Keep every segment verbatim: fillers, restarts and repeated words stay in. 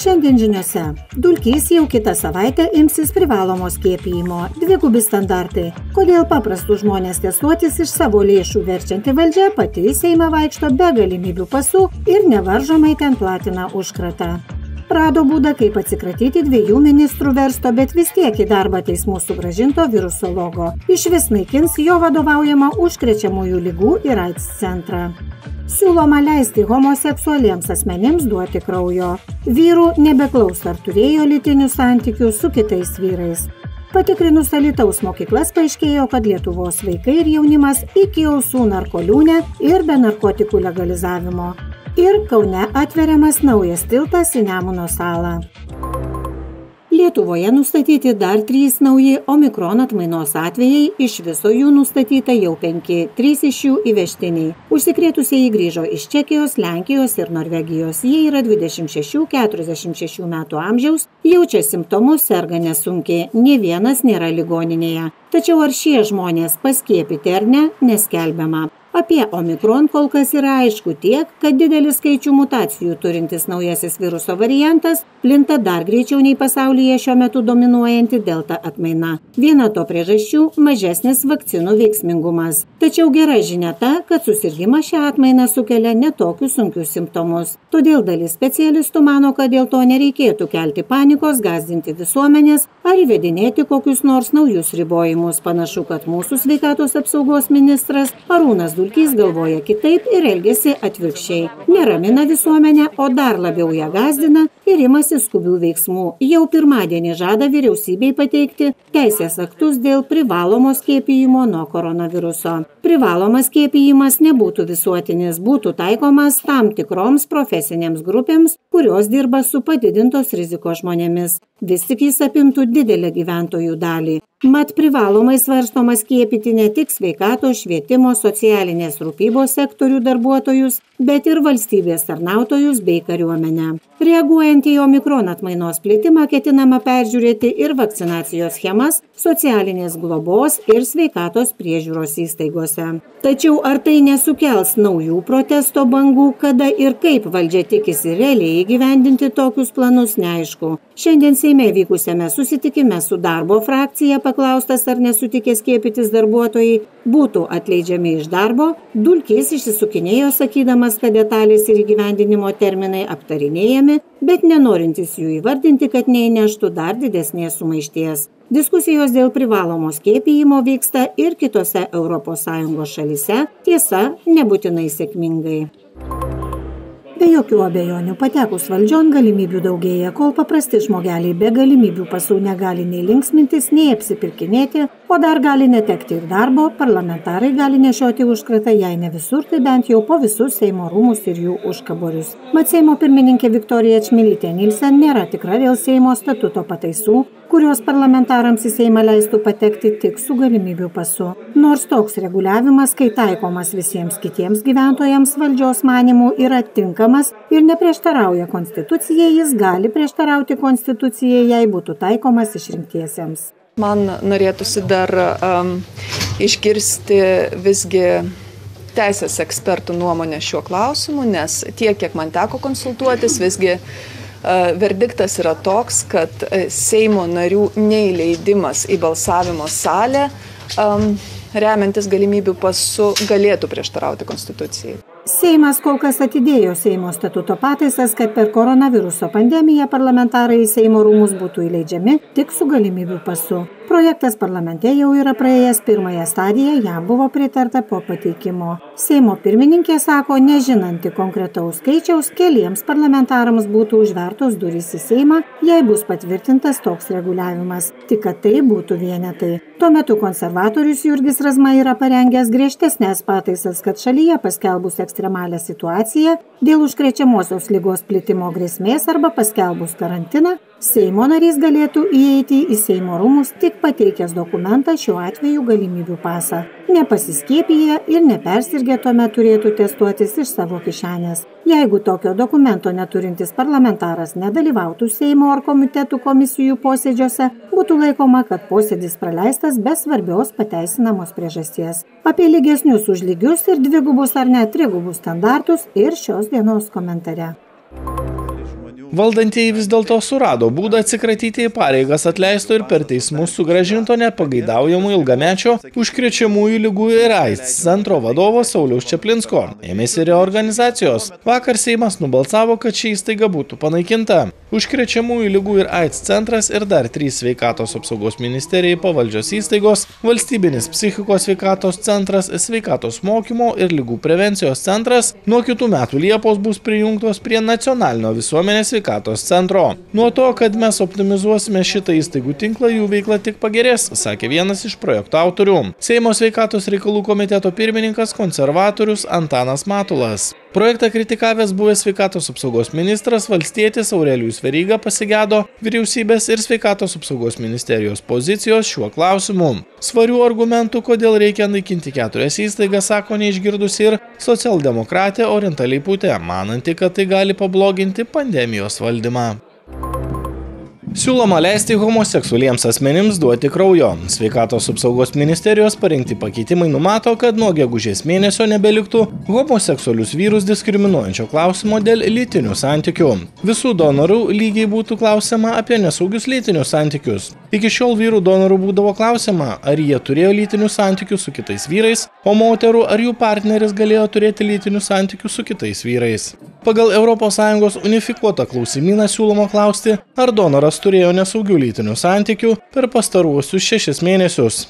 Šiandien žiniose. Dulkys jau kitą savaitę imsis privalomo skiepijimo. Dvigubi standartai. Kodėl paprastų žmonės testuotis iš savo lėšų verčianti valdžia pati į Seimą vaikšto be galimybių pasų ir nevaržomai ten platina užkratą. Rado būdą, kaip atsikratyti dviejų ministrų versto, bet vis tiek į darbą teismų sugrąžinto virusologo. Išvis naikins jo vadovaujamą užkrečiamųjų lygų ir AIDS centrą. Siūloma leisti homoseksualiems asmenims duoti kraujo. Vyrų nebeklaus, ar turėjo lytinių santykių su kitais vyrais. Patikrinus Alytaus mokyklas paaiškėjo, kad Lietuvos vaikai ir jaunimas iki ausų narkoliūne ir be narkotikų legalizavimo. Ir Kaune atveriamas naujas tiltas į Nemuno salą. Lietuvoje nustatyti dar trys nauji Omikron atmainos atvejai, iš viso jų nustatyta jau penki, trys iš jų įvežtiniai. Užsikrėtusieji grįžo iš Čekijos, Lenkijos ir Norvegijos. Jie yra dvidešimt šešių keturiasdešimt šešių metų amžiaus, jaučia simptomus, serga nesunkiai, nė vienas nėra ligoninėje. Tačiau ar šie žmonės paskiepyti ar ne, neskelbiama. Apie Omikron kol kas yra aišku tiek, kad didelį skaičių mutacijų turintis naujasis viruso variantas plinta dar greičiau nei pasaulyje šiuo metu dominuojanti delta atmaina. Viena to priežasčių – mažesnis vakcinų veiksmingumas. Tačiau gera žinia ta, kad susirgimą šią atmainą sukelia ne tokius sunkius simptomus. Todėl dalis specialistų mano, kad dėl to nereikėtų kelti panikos, gąsdinti visuomenės ar įvedinėti kokius nors naujus ribojimus. Panašu, kad mūsų sveikatos apsaugos ministras Arūnas Dulkys galvoja kitaip ir elgiasi atvirkščiai. Neramina visuomenę, o dar labiau ją gąsdina ir imasi skubių veiksmų. Jau pirmadienį žada vyriausybei pateikti teisės aktus dėl privalomo skiepijimo nuo koronaviruso. Privalomas skiepijimas nebūtų visuotinis, būtų taikomas tam tikroms profesinėms grupėms, kurios dirba su padidintos rizikos žmonėmis. Vis tik jis apimtų didelę gyventojų dalį. Mat privalomai svarstoma skiepyti ne tik sveikatos, švietimo, socialinės rūpybos sektorių darbuotojus, bet ir valstybės tarnautojus bei kariuomenę. Reaguojant į Omikron atmainos plitimą, ketinama peržiūrėti ir vakcinacijos schemas socialinės globos ir sveikatos priežiūros įstaigose. Tačiau ar tai nesukels naujų protesto bangų, kada ir kaip valdžia tikisi realiai įgyvendinti tokius planus, neaišku. Šiandien Seime vykusiame susitikime su darbo frakcija paklaustas, ar nesutikę skiepytis darbuotojai būtų atleidžiami iš darbo, Dulkys išsisukinėjo sakydamas, kad detalės ir įgyvendinimo terminai aptarinėjami, bet nenorintis jų įvardinti, kad neįneštų dar didesnės sumaišties. Diskusijos dėl privalomo skiepijimo vyksta ir kitose Europos Sąjungos šalyse, tiesa, nebūtinai sėkmingai. Be jokių abejonių, patekus valdžion galimybių daugėja, kol paprasti žmogeliai be galimybių pasų negali nei linksmintis, nei apsipirkinėti, o dar gali netekti ir darbo, parlamentarai gali nešioti užkratą, jei ne visur, tai bent jau po visus Seimo rūmus ir jų užkaborius. Mat Seimo pirmininkė Viktorija Čmilytė Nilsen nėra tikra dėl Seimo statuto pataisų, kurios parlamentarams į Seimą leistų patekti tik su galimybių pasu. Nors toks reguliavimas, kai taikomas visiems kitiems gyventojams valdžios manimų, yra tinkamas ir neprieštarauja konstitucijai, jis gali prieštarauti konstitucijai, jei būtų taikomas išrinktiesiems. Man norėtųsi dar um, išgirsti visgi teisės ekspertų nuomonę šiuo klausimu, nes tiek, kiek man teko konsultuotis, visgi uh, verdiktas yra toks, kad Seimo narių neįleidimas į balsavimo salę um, remiantis galimybių pasu galėtų prieštarauti konstitucijai. Seimas kol kas atidėjo Seimo statuto pataisas, kad per koronaviruso pandemiją parlamentarai į Seimo rūmus būtų įleidžiami tik su galimybių pasu. Projektas parlamente jau yra praėjęs pirmąją stadiją, jam buvo pritarta po pateikimo. Seimo pirmininkė sako, nežinanti konkretaus skaičiaus, keliems parlamentarams būtų užvertos durys į Seimą, jei bus patvirtintas toks reguliavimas, tik kad tai būtų vienetai. Tuo metu konservatorius Jurgis Razma yra parengęs griežtesnės pataisas, kad šalyje paskelbus ekstremalią situaciją dėl užkrečiamosios ligos plitimo grėsmės arba paskelbus karantiną, Seimo narys galėtų įeiti į Seimo rūmus tik pateikęs dokumentą, šiuo atveju galimybių pasą. Nepasiskiepiję ir nepersirgę tuomet turėtų testuotis iš savo kišenės. Jeigu tokio dokumento neturintis parlamentaras nedalyvautų Seimo ar komitetų komisijų posėdžiuose, būtų laikoma, kad posėdis praleistas be svarbios pateisinamos priežasties. Apie lygesnius už lygius ir dvigubus ar net trigubus standartus ir šios dienos komentare. Valdantieji vis dėlto surado būdą atsikratyti į pareigas atleisto ir per teismus sugrąžinto nepageidaujamų ilgamečio užkrečiamųjų ligų ir AIDS centro vadovo Sauliaus Čaplinsko. Ėmėsi reorganizacijos. Vakar Seimas nubalsavo, kad ši įstaiga būtų panaikinta. Užkrečiamųjų ligų ir AIDS centras ir dar trys sveikatos apsaugos ministerijai pavaldžios įstaigos, valstybinis psichikos sveikatos centras, sveikatos mokymo ir ligų prevencijos centras nuo kitų metų Liepos bus prijungtos prie nacionalinio visuomenės sveikatos centro. Nuo to, kad mes optimizuosime šitą įstaigų tinklą, jų veikla tik pagerės, sakė vienas iš projekto autorių. Seimo sveikatos reikalų komiteto pirmininkas konservatorius Antanas Matulas. Projektą kritikavęs buvęs sveikatos apsaugos ministras valstietis Aurelijus Veryga pasigedo vyriausybės ir sveikatos apsaugos ministerijos pozicijos šiuo klausimu. Svarių argumentų, kodėl reikia naikinti keturias įstaigas, sako neišgirdusi ir socialdemokratė Orinta Leiputė, mananti, kad tai gali pabloginti pandemijos valdymą. Siūloma leisti homoseksualiems asmenims duoti kraujo. Sveikatos apsaugos ministerijos parengti pakeitimai numato, kad nuo gegužės mėnesio nebeliktų homoseksualius vyrus diskriminuojančio klausimo dėl lytinių santykių. Visų donorų lygiai būtų klausima apie nesaugius lytinius santykius. Iki šiol vyrų donorų būdavo klausima, ar jie turėjo lytinių santykių su kitais vyrais, o moterų ar jų partneris galėjo turėti lytinių santykių su kitais vyrais. Pagal Europos Sąjungos unifikuotą klausimyną siūloma klausti, ar donoras turėjo nesaugių lytinių santykių per pastaruosius šešis mėnesius,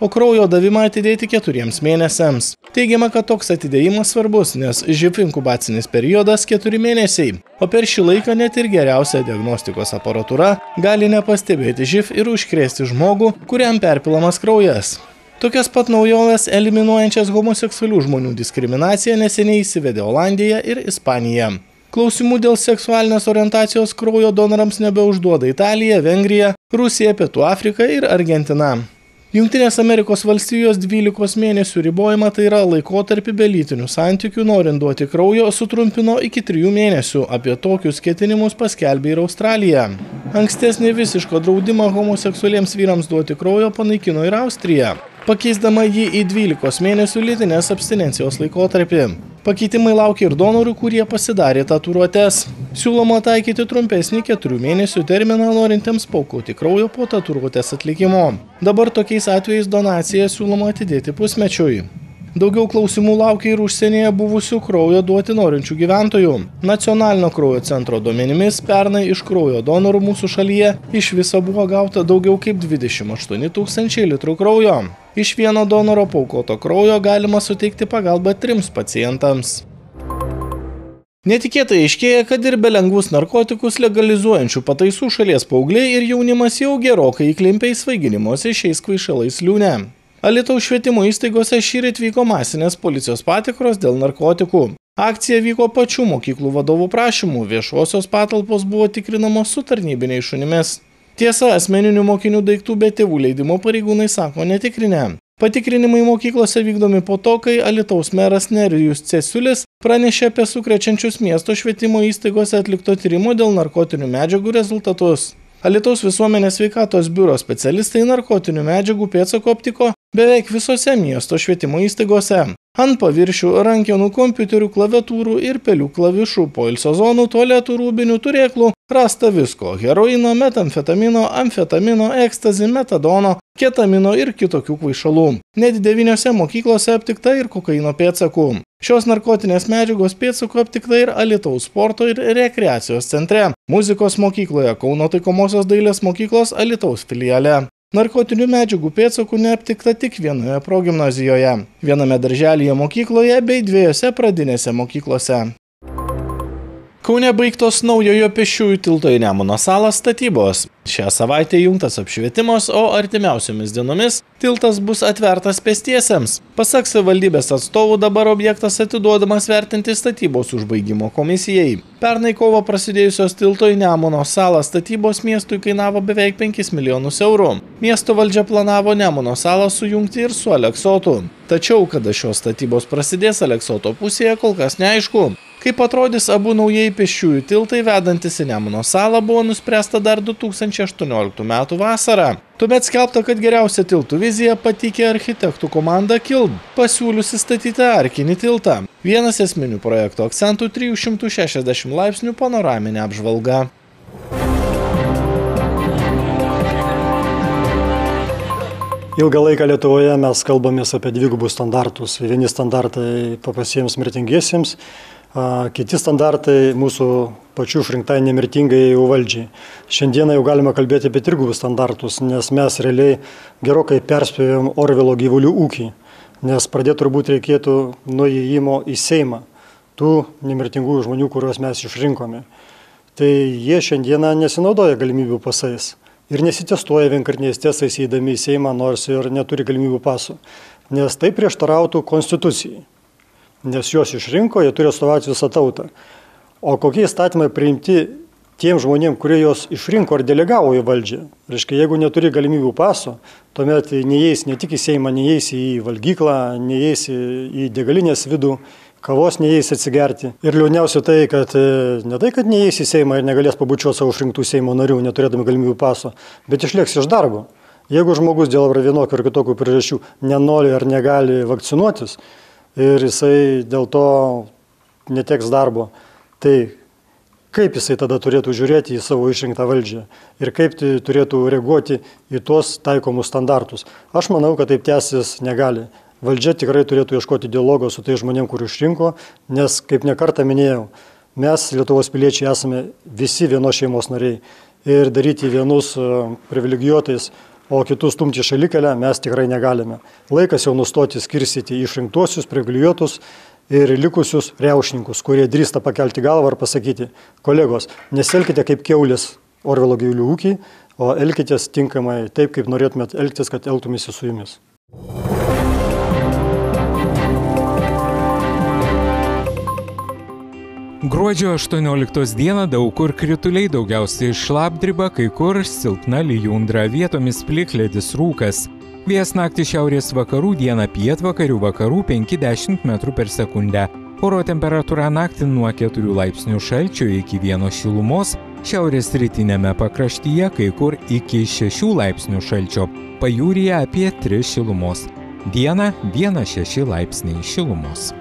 o kraujo davimą atidėti keturiems mėnesiams. Teigiama, kad toks atidėjimas svarbus, nes živ inkubacinis periodas keturi mėnesiai, o per šį laiką net ir geriausia diagnostikos aparatūra gali nepastebėti živ ir užkrėsti žmogų, kuriam perpilamas kraujas. Tokias pat naujoves eliminuojančias homoseksualių žmonių diskriminaciją neseniai įsivedė Olandija ir Ispanija. Klausimų dėl seksualinės orientacijos kraujo donorams nebeužduoda Italija, Vengrija, Rusija, Pietų Afrika ir Argentina. Jungtinės Amerikos valstijos dvylikos mėnesių ribojimą, tai yra laikotarpį be lytinių santykių, norint duoti kraujo, sutrumpino iki trijų mėnesių. Apie tokius ketinimus paskelbė ir Australija. Ankstesnį visišką draudimą homoseksualiems vyrams duoti kraujo panaikino ir Austrija, pakeisdama jį į dvylikos mėnesių lytinės abstinencijos laikotarpį. Pakeitimai laukia ir donorų, kurie pasidarė tatuiruotes. Siūloma taikyti trumpesnį keturių mėnesių terminą norintiems paaukoti kraujo po tatuiruotės atlikimo. Dabar tokiais atvejais donaciją siūloma atidėti pusmečiui. Daugiau klausimų laukia ir užsienyje buvusių kraujo duoti norinčių gyventojų. Nacionalinio kraujo centro duomenimis pernai iš kraujo donorų mūsų šalyje iš viso buvo gauta daugiau kaip dvidešimt aštuoni tūkstančiai litrų kraujo. Iš vieno donoro paaukoto kraujo galima suteikti pagalbą trims pacientams. Netikėtai aiškėja, kad ir be lengvus narkotikus legalizuojančių pataisų šalies paaugliai ir jaunimas jau gerokai įklimpę į svaiginimosi šiais kvaišalais liūne. Alytaus švietimo įstaigose šįryt vyko masinės policijos patikros dėl narkotikų. Akcija vyko pačių mokyklų vadovų prašymų, viešosios patalpos buvo tikrinamos su tarnybiniais šunimis. Tiesa, asmeninių mokinių daiktų be tėvų leidimo pareigūnai sako netikrinę. Patikrinimai mokyklose vykdomi po to, kai Alytaus meras Nerijus Cesiulis pranešė apie sukrečiančius miesto švietimo įstaigose atlikto tyrimo dėl narkotinių medžiagų rezultatus. Alytaus visuomenės sveikatos biuro specialistai narkotinių medžiagų pėdsakų aptiko beveik visose miesto švietimo įstaigose. Ant paviršių, rankenų, kompiuterių, klaviatūrų ir pelių klavišų, poilsio zonų, tualetų, rūbinių, turėklų rasta visko – heroino, metamfetamino, amfetamino, ekstazi, metadono, ketamino ir kitokių kvaišalų. Net devyniose mokyklose aptikta ir kokaino pėdsakų. Šios narkotinės medžiagos pėdsakų aptikta ir Alytaus sporto ir rekreacijos centre, muzikos mokykloje, Kauno taikomosios dailės mokyklos Alytaus filiale. Narkotinių medžiagų pėdsakų neaptikta tik vienoje progimnazijoje, viename darželyje mokykloje bei dviejose pradinėse mokyklose. Kaune baigtos naujojo pėsčiųjų tilto į Nemuno salą statybos. Šią savaitę įjungtas apšvietimas, o artimiausiomis dienomis tiltas bus atvertas pėstiesiems. Pasak savivaldybės atstovų, dabar objektas atiduodamas vertinti statybos užbaigimo komisijai. Pernai kovo prasidėjusios tilto į Nemuno salą statybos miestui kainavo beveik penkis milijonus eurų. Miesto valdžia planavo Nemuno salą sujungti ir su Aleksotu. Tačiau, kada šios statybos prasidės Aleksoto pusėje, kol kas neaišku. Kaip atrodys abu naujieji pėsčiųjų tiltai vedantis į Nemuno salą, buvo nuspręsta dar du tūkstančiai aštuonioliktų metų vasarą. Tuomet skelbta, kad geriausią tiltų viziją pateikė architektų komanda Kild, pasiūliusi statyti arkinį tiltą. Vienas esminių projekto akcentų – trijų šimtų šešiasdešimt laipsnių panoraminė apžvalga. Ilgą laiką Lietuvoje mes kalbamės apie dvigubus standartus. Vieni standartai paprastiems mirtingiesiems, kiti standartai mūsų pačių išrinktai nemirtingai valdžiai. Šiandieną jau galime kalbėti apie trigubus standartus, nes mes realiai gerokai perspėjom Orvelo gyvulių ūkį, nes pradėti turbūt reikėtų nuo įėjimo į Seimą tų nemirtingųjų žmonių, kuriuos mes išrinkome. Tai jie šiandieną nesinaudoja galimybių pasais. Ir nesitestuoja vienkartiniais testais įeidami į Seimą, nors ir neturi galimybių pasų, nes tai prieštarautų konstitucijai. Nes juos išrinko, jie turi atstovauti visą tautą. O kokie įstatymai priimti tiem žmonėm, kurie juos išrinko ar delegavo į valdžią? Reiškia, jeigu neturi galimybių paso, tuomet neįeis ne tik į Seimą, neįeis į valgyklą, neįeis į degalinės vidų, kavos neįeis atsigerti. Ir liūdniausia tai, kad ne tai, kad neįeis į Seimą ir negalės pabučiuoti savo išrinktų Seimo narių, neturėdami galimybių paso, bet išlieks iš darbo. Jeigu žmogus dėl vienokių ar kitokių priežasčių nenori ar negali vakcinuotis ir jisai dėl to neteks darbo, tai kaip jisai tada turėtų žiūrėti į savo išrinktą valdžią ir kaip tai turėtų reaguoti į tuos taikomus standartus. Aš manau, kad taip tęsis negali. Valdžia tikrai turėtų ieškoti dialogo su tai žmonėm, kurių išrinko, nes, kaip nekartą minėjau, mes, Lietuvos piliečiai, esame visi vienos šeimos nariai ir daryti vienus privilegijuotais, o kitus stumti šalikelę mes tikrai negalime. Laikas jau nustoti skirstyti išrinktuosius, privilegijuotus ir likusius riaušininkus, kurie drįsta pakelti galvą ir pasakyti: kolegos, nesielkite kaip kiaulės Orvelo gyvulių ūkiai, o elkitės tinkamai taip, kaip norėtumėt elgtis, kad elgtumėsi su jumis. Gruodžio aštuonioliktos dieną daug kur krituliai, daugiausiai šlapdriba, kai kur silpna lijundra, vietomis plikledis, rūkas. Vėjas naktį šiaurės vakarų, dieną pietvakarių vakarų penki dešimt metrų per sekundę. Oro temperatūra naktį nuo keturių laipsnių šalčio iki vieno šilumos, šiaurės rytinėme pakraštyje kai kur iki šešių laipsnių šalčio, pajūryje apie tris šilumos. Dieną vienas šeši laipsniai šilumos.